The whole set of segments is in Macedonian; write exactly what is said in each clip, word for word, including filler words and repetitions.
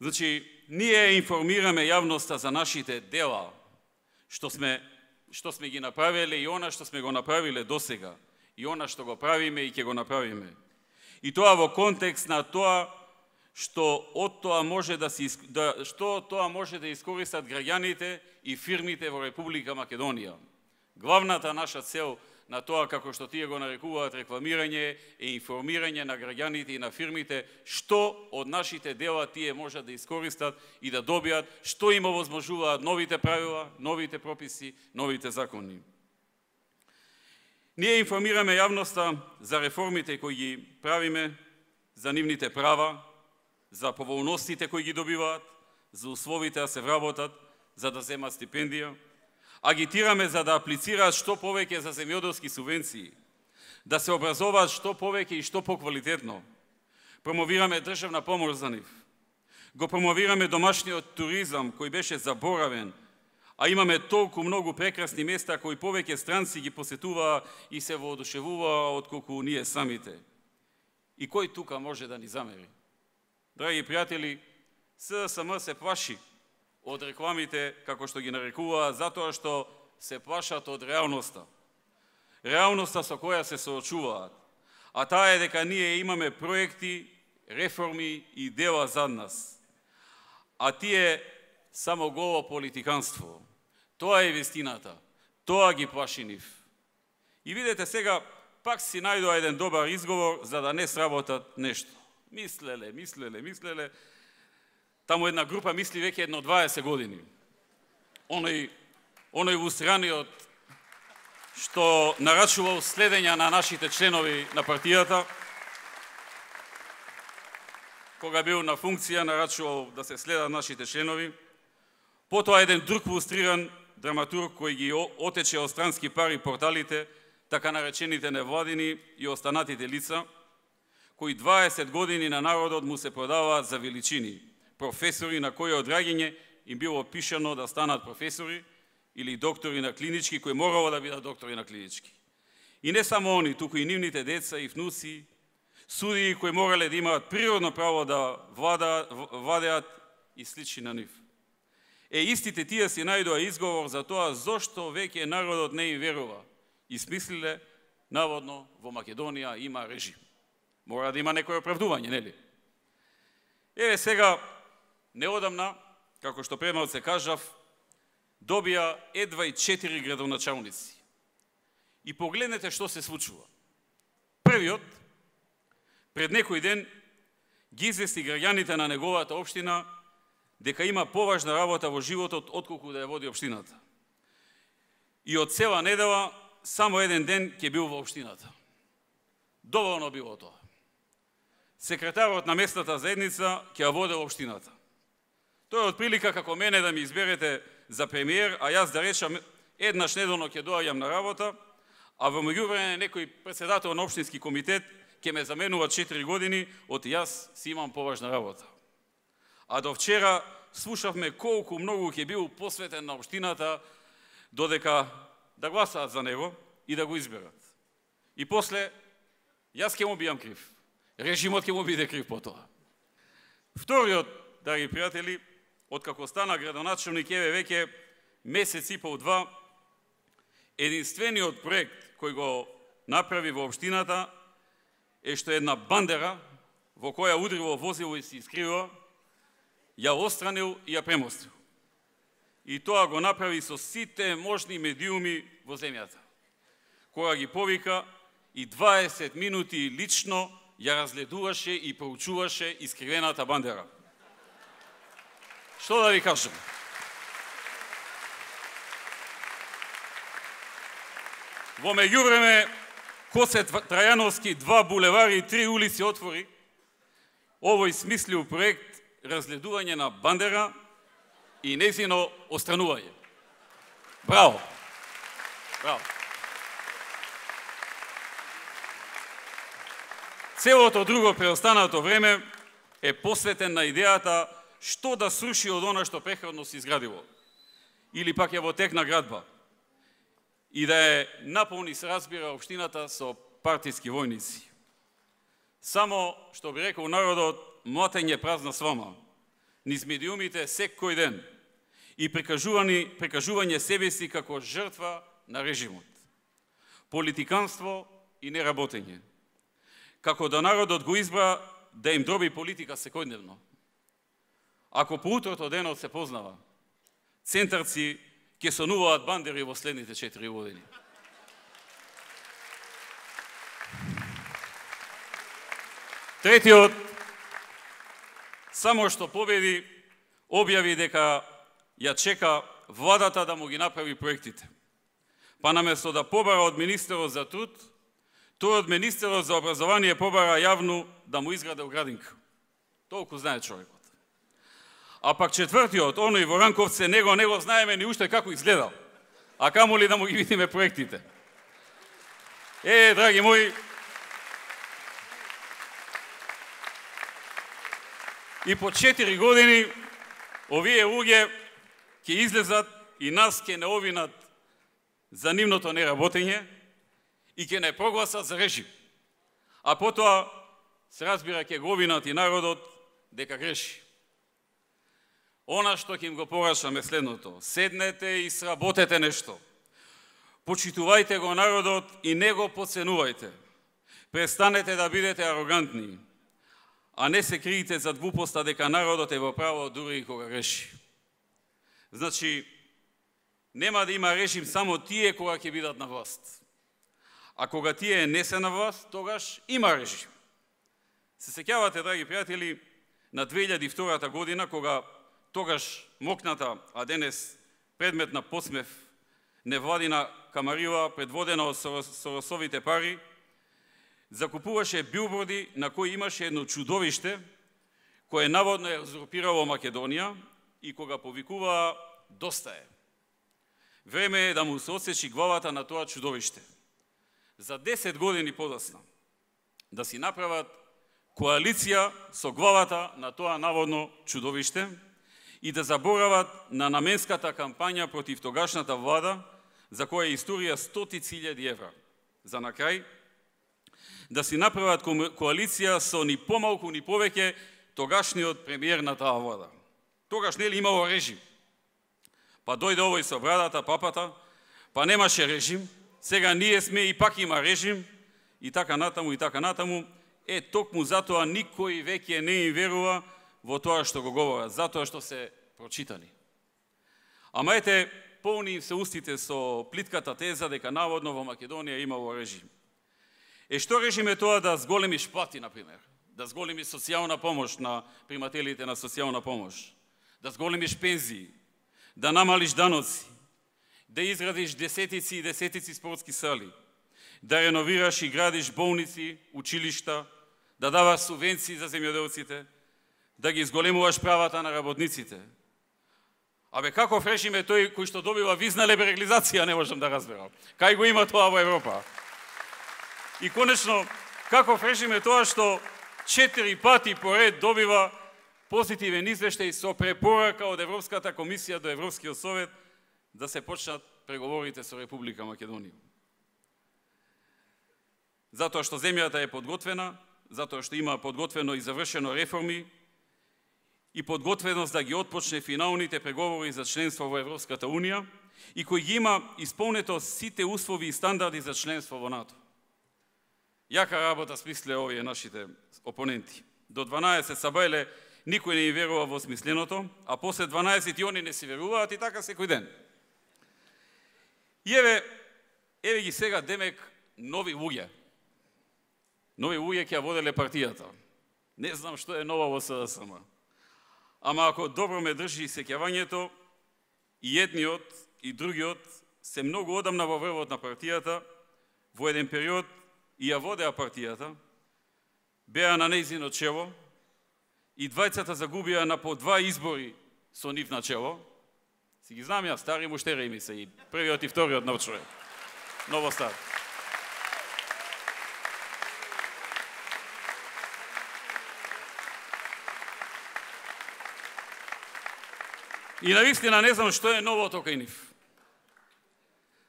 Значи, ние информираме јавноста за нашите дела, што сме, што сме ги направиле и она што сме го направиле досега, и она што го правиме и ќе го направиме. И тоа во контекст на тоа што од тоа може да се да што тоа може да искористат граѓаните и фирмите во Република Македонија. Главната наша цел на тоа, како што тие го нарекуваат рекламирање, е информирање на граѓаните и на фирмите што од нашите дела тие можат да искористат и да добијат, што им овозможуваат новите правила, новите прописи, новите закони. Ние информираме јавноста за реформите кои ги правиме, за нивните права, за поволностите кои ги добиваат, за условите да се вработат, за да земат стипендија. Агитираме за да аплицираат што повеќе за земјоделски субвенции, да се образуваат што повеќе и што поквалитетно. Промовираме државна помош за нив. Го промовираме домашниот туризам кој беше заборавен, а имаме толку многу прекрасни места кои повеќе странци ги посетуваа и се воодушевуваа отколку ние самите. И кој тука може да ни замери? Драги пријатели, СДСМ се плаши од рекламите, како што ги нарекуваа, затоа што се плашат од реалноста. Реалноста со која се соочуваат. А таа е дека ние имаме проекти, реформи и дела зад нас. А тие само голо политиканство. Тоа е вистината. Тоа ги плаши нив. И видете сега, пак си најдоа еден добар изговор за да не сработат нешто. Мислеле, мислеле, мислеле. Таму една група мисли веќе едно дваесет години. Оној, оној вустраниот што нарачувал следења на нашите членови на партијата, кога бил на функција, нарачувал да се следат нашите членови. Потоа еден друг вустриран драматург кој ги отече од странски пари порталите, така наречените невладини и останатите лица, кои дваесет години на народот му се продаваат за величини. Професори на кои одраѓање им било пишано да станат професори или доктори на клинички, кои морало да бидат доктори на клинички. И не само они, туку и нивните деца и внуци, судии кои морале да имаат природно право да владеат и слични на нив. Е, истите тие си најдоа изговор за тоа зошто веќе народот не им верува. И смислиле, наводно, во Македонија има режим. Мора да има некој оправдување, нели? Еве сега, неодамна, како што премалце кажав, добија едва и четири градоначалници. И погледнете што се случува. Првиот, пред некој ден, ги извести граѓаните на неговата општина дека има поважна работа во животот отколку да ја води општината. И од цела недела, само еден ден ќе бил во општината. Доволно било тоа. Секретарот на местната заедница ќе ја води општината. Тоа е од прилика како мене да ми изберете за премиер, а јас да речам еднаш неделно ќе доаѓам на работа, а во меѓувреме некој председател на општински комитет ќе ме заменува четири години, од јас си имам поважна работа. А до вчера слушавме колку многу ќе бил посветен на општината, додека да гласаат за него и да го изберат. И после, јас ќе му бијам крив. Режимот ќе му биде крив по тоа. Вториот, драги пријатели, откако стана градоначалник, еве веќе месец и пол два, единствениот проект кој го направи во општината е што една бандера во која удрило возило и се искрива, ја отстранил и ја премостил. И тоа го направи со сите можни медиуми во земјата. Кога ги повика и дваесет минути лично ја разгледуваше и проучуваше искривената бандера. Што да ви кажам? Во меѓувреме, Коце Трајановски, два булевари и три улици отвори, овој смислив проект разгледување на бандера и нејзино отстранување. Браво! Браво! Целото друго преостанато време е посветен на идејата што да сруши од она што претходно се изградило. Или пак е во тек на градба. И да е наполни, се разбира, општината со партиски војници. Само, што би рекол народот, млатење празна свама. низ медиумите секој ден и прикажување, прикажување себе си како жртва на режимот. Политиканство и неработење. Како да народот го избра да им дроби политика секојдневно. Ако по утрото денот се познава, центарци ќе сонуваат бандери во следните четири години. Третиот, само што победи, објави дека ја чека владата да му ги направи проектите. Па наместо да побара од министерот за труд, тој од министерот за образование побара јавно да му изграде оградинка. Толку знае човекот. А пак четвртиот, оној во Ранковце, него не го знаеме ни уште како изгледал. А камо ли да му ги видиме проектите. Е, драги мои, и по четири години овие луѓе ќе излезат и нас ќе не овинат за нивното неработење и ќе не прогласат за режим. А потоа, се разбира, ќе го овинат и народот дека греши. Она што ќе им го порачаме следното: седнете и сработете нешто. Почитувајте го народот и не го подценувајте. Престанете да бидете арогантни, а не се криете зад глупоста дека народот е во право дури и кога греши. Значи, нема да има режим само тие кога ќе бидат на власт. А кога тие не се на власт, тогаш има режим. Се сеќавате, драги пријатели, на две илјади и втора година, кога тогаш мокната, а денес предмет на посмев, невладина камарила, предводена од Соросовите пари, закупуваше билборди на кои имаше едно чудовиште, кое наводно е узурпирало Македонија и кога повикуваа "Доста е". Време е да му се отсечи главата на тоа чудовиште. За десет години подоцна да си направат коалиција со главата на тоа наводно чудовиште и да заборават на наменската кампања против тогашната влада, за која историја стотици илјади евра. За на крај, да си направат коалиција со ни помалку ни повеќе тогашниот премиер на таа влада. Тогаш нели имало режим. Па дојде овој со брадата, папата, па немаше режим, сега ние сме и пак има режим, и така натаму, и така натаму. Е, токму затоа никој веќе не им верува во тоа што го говорат, затоа што се прочитани. Ама ете, полни им се устите со плитката теза дека наводно во Македонија имало режим. Е, што режим е тоа да зголемиш плати, например? Да зголемиш социјална помош на примателите на социјална помош? Да зголемиш пензии? Да намалиш даноци? Да изградиш десетици и десетици спортски сали? Да реновираш и градиш болници, училишта? Да даваш субвенции за земјоделците? Да ги зголемуваш правата на работниците? Абе, каков режим е тој кој што добива визна либерализација, не можам да разберам. Кај го има тоа во Европа? И конечно, каков режим е тоа што четири пати поред добива позитивен извештај со препорака од Европската комисија до Европскиот совет да се почнат преговорите со Република Македонија. Затоа што земјата е подготвена, затоа што има подготвено и завршено реформи и подготвеност да ги отпочне финалните преговори за членство во Европската Унија и кој ги има исполнето сите услови и стандарди за членство во НАТО. Јака работа смисле овие нашите опоненти. До дванаесет сабајле никој не им верува во смисленото, а после дванаесет и они не си веруваат и така секој ден. И еве, еве ги сега демек нови луѓе. Нови луѓе ќе ја воделе партијата. Не знам што е ново во С Д С М. Ама ако добро ме држи сеќавањето, и едниот и другиот се многу одамна во врвот на партијата, во еден период и ја водеа партијата, беа на нејзино чело, и двајцата загубија на по два избори со нив на чело. Си ги знам ја, стари муштери ми се, и првиот и вториот нов човек. Ново стар. И навистина не знам што е новото кај нив.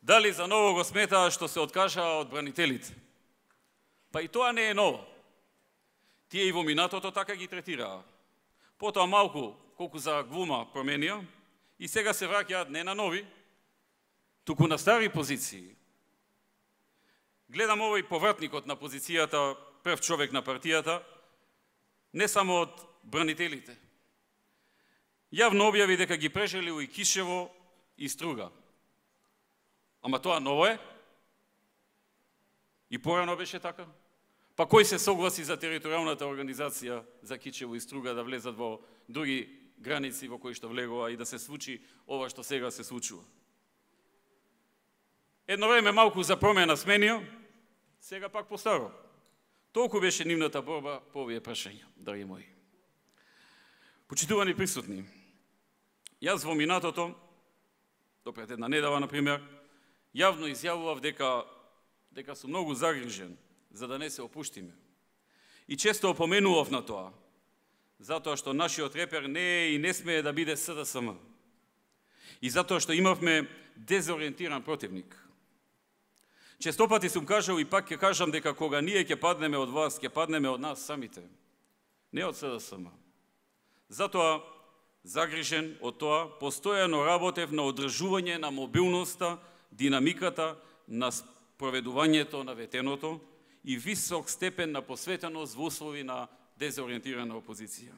Дали за ново го сметаа што се откажаа од бранителите? Па и тоа не е ново. Тие и во минатото така ги третираа. Потоа малку колку за глума променија и сега се враќаат не на нови, туку на стари позиции. Гледам овој повратникот на позицијата прв човек на партијата, не само од бранителите. Јавно објави дека ги прежелил и Кишево и Струга. Ама тоа ново е? И порано беше така? Па кој се согласи за територијалната организација за Кичево и Струга да влезат во други граници во кои што влегува и да се случи ова што сега се случува? Едно време малку за промена сменија, сега пак постаро. Толку беше нивната борба по овие прашања, драги мои. Почитувани присутни, јас во минатото, допред една недела, например, јавно изјавував дека, дека сум многу загрижен за да не се опуштиме. И често опоменував на тоа, затоа што нашиот репер не е и не смее да биде С Д С М. И затоа што имавме дезориентиран противник. Често пати сум кажал и пак ќе кажам дека кога ние ќе паднеме од власт, ќе паднеме од нас самите, не од С Д С М. Затоа, загрижен од тоа, постојано работев на одржување на мобилноста, динамиката на спроведувањето на ветеното и висок степен на посветеност во услови на дезориентирана опозиција.